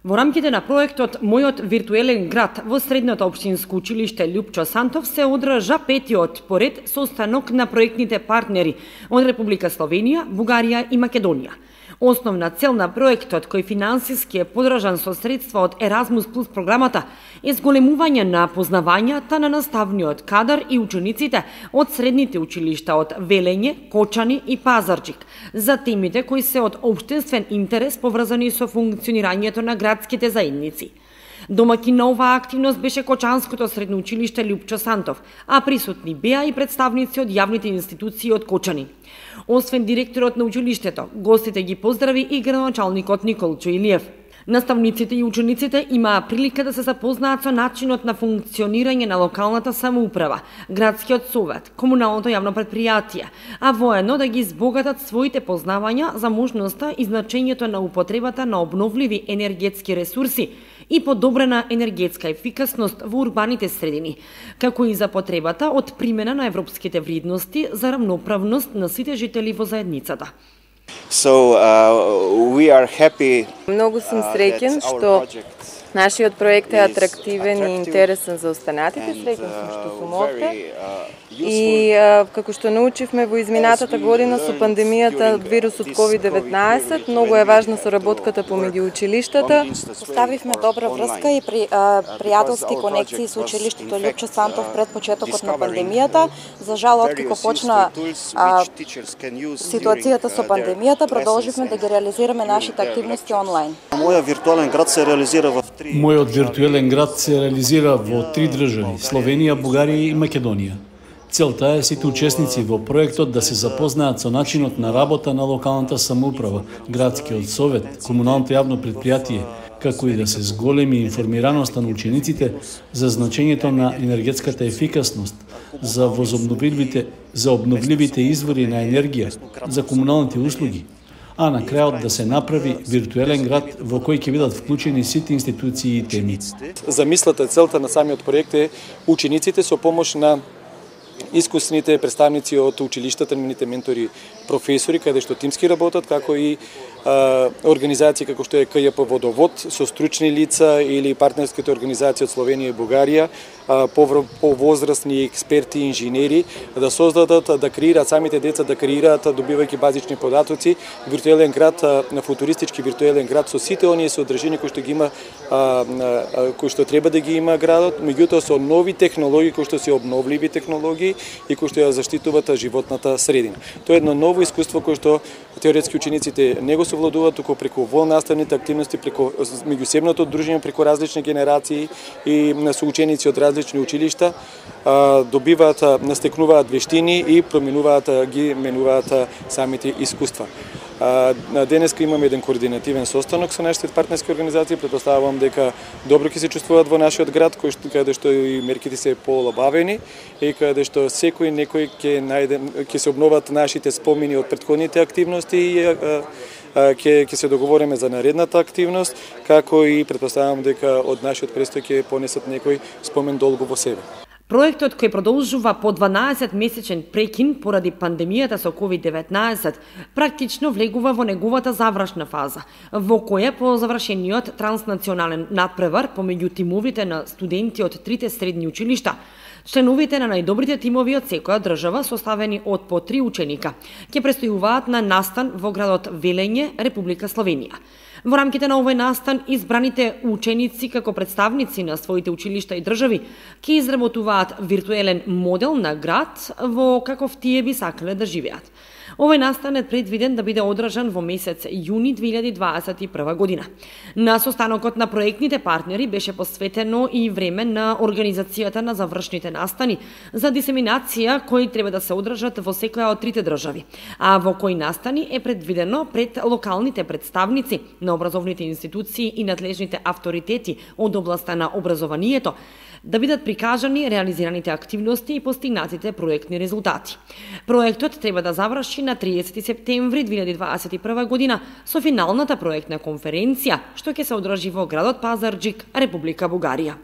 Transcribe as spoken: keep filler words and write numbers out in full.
Во рамките на проектот Мојот виртуелен град во средното општинско училиште Љупчо Сантов се одржа петиот поред состанок на проектните партнери од Република Словенија, Бугарија и Македонија. Основна цел на проектот, кој финансиски е подржан со средства од Еразмус плюс програмата, е зголемување на познавањата на наставниот кадар и учениците од средните училишта од Велење, Кочани и Пазарџик за темите кои се од општествен интерес поврзани со функционирањето на градските заедници. Домаќин на оваа активност беше Кочанското средно училиште Љупчо Сантов, а присутни беа и представници од јавните институции од Кочани. Освен директорот на училиштето, гостите ги поздрави и градоначалникот Николчо Илиев. Наставниците и учениците имаа прилика да се запознаат со начинот на функционирање на локалната самоуправа, градскиот совет, комуналното јавно предпријатие, а воедно да ги избогатат своите познавања за можноста и значењето на употребата на обновливи енергетски ресурси и подобрена енергетска ефикасност во урбаните средини, како и за потребата од примена на европските вредности за рамноправност на сите жители во заедницата. So, uh, we are happy, Многу сум среќен што нашиот проект е атрактивен и интересен за останатите. Среќен сум што сум овде. И како што научивме во изминатата година со пандемијата од вирусот ковид деветнаесет, многу е важна соработката помеѓу училиштата. Поставивме добра врска и при, а, пријателски конекции со училиштето Љупчо Сантов пред почетокот на пандемијата. За жал, откако почна а, ситуацијата со пандемијата, продолживме да ги реализираме нашите активности онлайн. Мојот виртуелен град се реализира во три. Мојот виртуелен град се реализира во три држави: Словенија, Бугарија и Македонија. Целта е сите учесници во проектот да се запознаат со начинот на работа на локалната самоуправа, градскиот совет, комуналното јавно предпријатие, како и да се зголеми информираноста на учениците за значењето на енергетската ефикасност, за возобновливите, за обновливите извори на енергија, за комуналните услуги, а на крајот да се направи виртуелен град во кој ќе бидат вклучени сите институции и теми. Замислата, целта на самиот проект е учениците со помош на искусните представници од училиштата, нивните ментори, професори, каде што тимски работат, како и а, организации како што е К Ј П Водовод со стручни лица или партнерските организации од Словенија и Бугарија, а, повозрастни експерти и инженери да создадат, да креираат самите деца, да креираат, добивајќи базични податоци, виртуелен град, на футуристички виртуелен град со сите оние содржини кои што ги има, а, а, кои што треба да ги има градот, меѓутоа со нови технологии кои што се обновливи технологии и кои што ја заштитуваат животната средина. Тоа е едно ново искуство кое што теоретски учениците не го совладуваат, туку преку волнаставните активности, преку меѓусебното дружење, преку различни генерации и соученици од различни училишта добиваат, настекнуваат вештини и променуваат, ги менуваат самите искуства. Денеска имаме еден координативен состанок со нашите партнерски организации. Претпоставувам дека добро ќе се чувствуваат во нашиот град, кој што, каде што и мерките се поолабавени и каде што секој некој ќе најде, ќе се обноват нашите спомени од претходните активности и ќе ќе се договориме за наредната активност, како и претпоставувам дека од нашиот престој ќе понесат некој спомен долго во себе. Проектот, кој продолжува по дванаесет месечен прекин поради пандемијата со ковид деветнаесет, практично влегува во неговата завршна фаза, во која по завршениот транснационален надпревар помеѓу тимовите на студенти од трите средни училишта, членовите на најдобрите тимови од секоја држава, составени од по три ученика, ќе престојуваат на настан во градот Велење, Република Словенија. Во рамките на овој настан, избраните ученици како представници на своите училишта и држави ќе изработуваат виртуелен модел на град во каков тие би сакале да живеат. Овој настан е предвиден да биде одржан во месец јуни две илјади дваесет и прва година. На состанокот на проектните партнери беше посветено и време на организацијата на завршните настани за дисеминација кои треба да се одржат во секоја од трите држави, а во кои настани е предвидено пред локалните представници на образовните институции и надлежните авторитети од областа на образованието да бидат прикажани реализираните активности и постигнатите проектни резултати. Проектот треба да заврши на триесети септември две илјади дваесет и прва година со финалната проектна конференција што ќе се одржи во градот Пазарџик, Република Бугарија.